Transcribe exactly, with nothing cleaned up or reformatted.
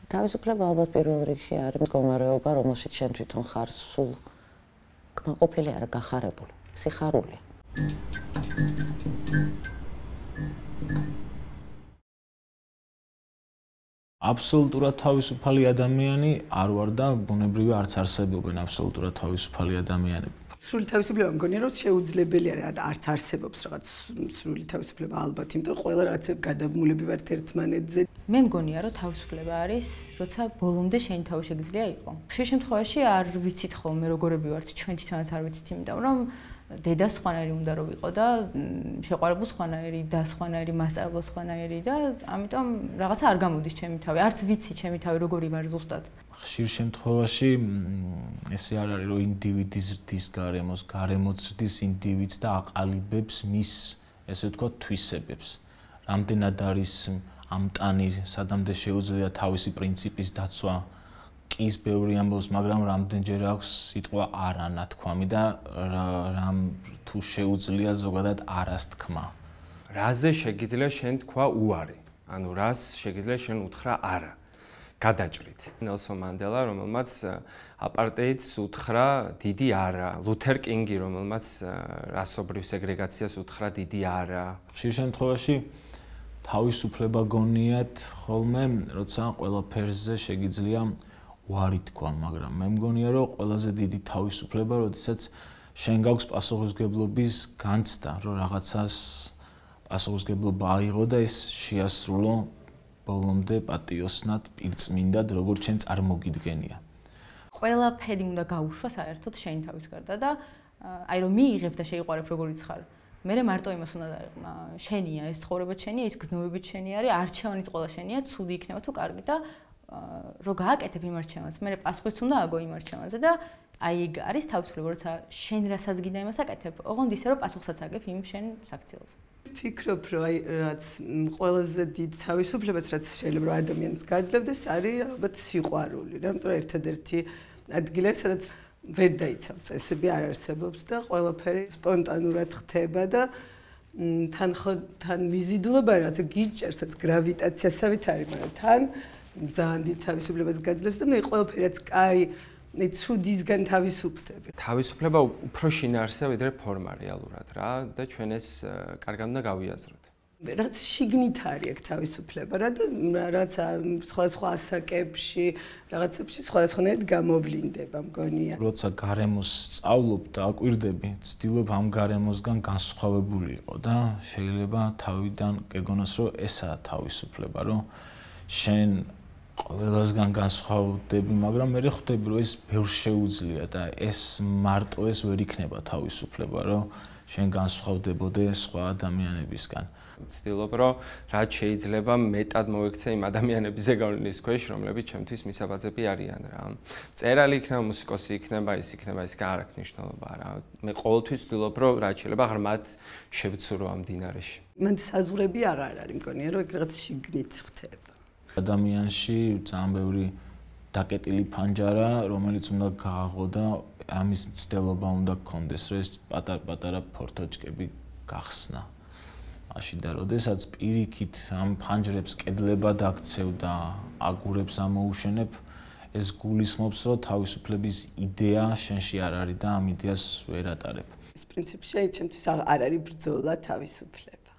თავისუფლება ალბათ პირველ რიგში არის მდგომარეობა, რომელშიც შენ თვითონ ხარ სულ კმაყოფილი არა გახარებული, სიხარულია. აბსოლუტურად თავისუფალი ადამიანი არ ვარ და ბუნებრივი არც არსებობენ აბსოლუტურად თავისუფალი ადამიანები. სრული თავისუფლება მგონია რომ შეუძლებელი არის, არც არსებობს რაღაც სრული თავისუფლება ალბათ, იმიტომ რომ ყველა რაღაცა გადამულები ვართ ერთმანეთზე. მე მგონია რომ თავისუფლება არის, როცა ბოლომდე შენი თავი შეგიძლია იყო. ხშირ შემთხვევაში არ ვიცით ხოლმე როგორები ვართ, ჩვენ თვითონაც არ ვიცით, იმიტომ რომ დედა სხვანაირი უნდა რომ იყო და შეყვარებულ სხვანაირი და სხვანაირი მასწავლებლო სხვანაირი და ამიტომ რაღაცა არ გამოდის ჩემი თავი, არც ვიცი ჩემი თავი როგორი ვარ ზუსტად. ხშირ შემთხვევაში ესე არ არის რომ ინდივიდი ზრდის გარემოს, გარემოც ზრდის ინდივიდს და აყალიბებს მის ესე ვთქვათ თვისებებს. რამდენად არის ამტანი, სადამდე შეუძლია თავისი პრინციპის დაცვა. Კის ბევრი ამბობს, მაგრამ რამდენჯერ აქვს სიტყვა არა ნათქვამი და რამ თუ შეუძლია ზოგადად არას თქმა. რაზე შეგიძლია შენ თქვა უარი? ანუ რას შეგიძლია შენ უთხრა არა? გადაჭრით. ნელსონ მანდელა, რომელმაც აპარტეიდს უთხრა დიდი არა. ლუთერ კინგი, რომელმაც რასობრივ სეგრეგაციას უთხრა დიდი არა. ხშირ შემთხვევაში თავისუფლება გონიათ ხოლმე, როცა ყველაფერზე შეგიძლია უარი თქვა, მაგრამ მე მგონია რომ ყველაზე დიდი თავისუფლება, როდესაც შენ გაქვს პასუხისმგებლობის განცდა, რომ რაღაცას პასუხისმგებლობა აიღო და ეს შეასრულო ბოლომდე პატიოსნად, პირწმინდად, როგორც შენ წარმოგიდგენია. ყველაფერი უნდა გაუშვა საერთოდ შენი თავის გარდა და აი რომ მიიღებ და შეიყვარებ როგორიც ხარ. მე მარტო იმას უნდა დაიყმა, შენია ეს ცხოვრება შენია, ეს გზნობებით შენი არის, არჩევანიც ყველა შენია, ცუდი იქნება თუ კარგი და რო გააკეთებ იმ არჩევანს, მე პასუხიც უნდა აგო იმ არჩევანზე და აი ეგ არის თავისუფლება, როცა შენ რასაც გინდა იმას აკეთებ, ოღონდ ისე რომ პასუხსაც აგებ იმ შენ საქციელზე. ფიქრობ, რომ აი რაც ყველაზე დიდ თავისუფლებას, რაც შეიძლება ადამიანს გაძლევდეს, არის ალბათ სიყვარული, რამიტომ ერთადერთი ადგილი არის, სადაც ვერ დაიცავ წესები არ არსებობს და ყველაფერი სპონტანურად ხდება და თან თან ვიზიდულობა რაღაცა გიჭერსაც გრავიტაციასავით არის, მაგრამ თან ძალიან დიდ თავისუფლებას გაძლევს და მე ყველაფერაც კაი ცუდისგან თავისუფლდები. თავისუფლება უფრო შინაარსია ვიდრე ფორმა რეალურად რა და ჩვენ ეს კარგად უნდა გავიაზროთ. რაც შიგნით არის აქ თავისუფლება რა და რაც სხვადასხვა ასაკებში, რაღაცებში სხვადასხვანაირად გამოვლინდება მგონია. როცა გარემოს სწავლობ და აკვირდები, ცდილობ ამ გარემოსგან განსხვავებული იყო და შეიძლება თავიდან გეგონოს რომ ესაა თავისუფლება, რომ შენ ყველასგან განსხვავდები, მაგრამ მე ხვდები რომ ეს ბევრს შეუძლია და ეს მარტო ეს ვერ იქნება თავისუფლება, რომ შენ განსხვავდებოდე სხვა ადამიანებისგან. ვცდილობ რომ რაც შეიძლება მეტად მოექცე იმ ადამიანების ზეგავლენის ქვეშ, რომლებიც ჩემთვის მისაბაძები არიან რა. წერალი იქნება, მუსიკოსი იქნება, ის იქნება, ის არ აქვს მნიშვნელობა რა. მე ყოველთვის ვცდილობ რომ რაც შეიძლება ღრმად შევცურო ამ დინარეში. მან საზღვრები აღარ არის, მგონია რომ ეგ რაღაც შიგნით ხდება. ადამიანში ძალიან ბევრი დაკეტილი ფანჯარა, რომელიც უნდა გააღო და ამის მცდელობა უნდა გქონდეს, რომ ეს პატარ-პატარა ფორთოჩკები გახსნა. მაშინ და როდესაც პირიქით ამ ფანჯრებს კედლება დაქცევ და აგურებს ამოუშენებ, ეს გულისხმობს, რომ თავისუფლების იდეა შენში არ არის და ამ იდეას ვერ ატარებ. ეს პრინციპში აი ჩემთვის არ არის ბრძოლა თავისუფლება.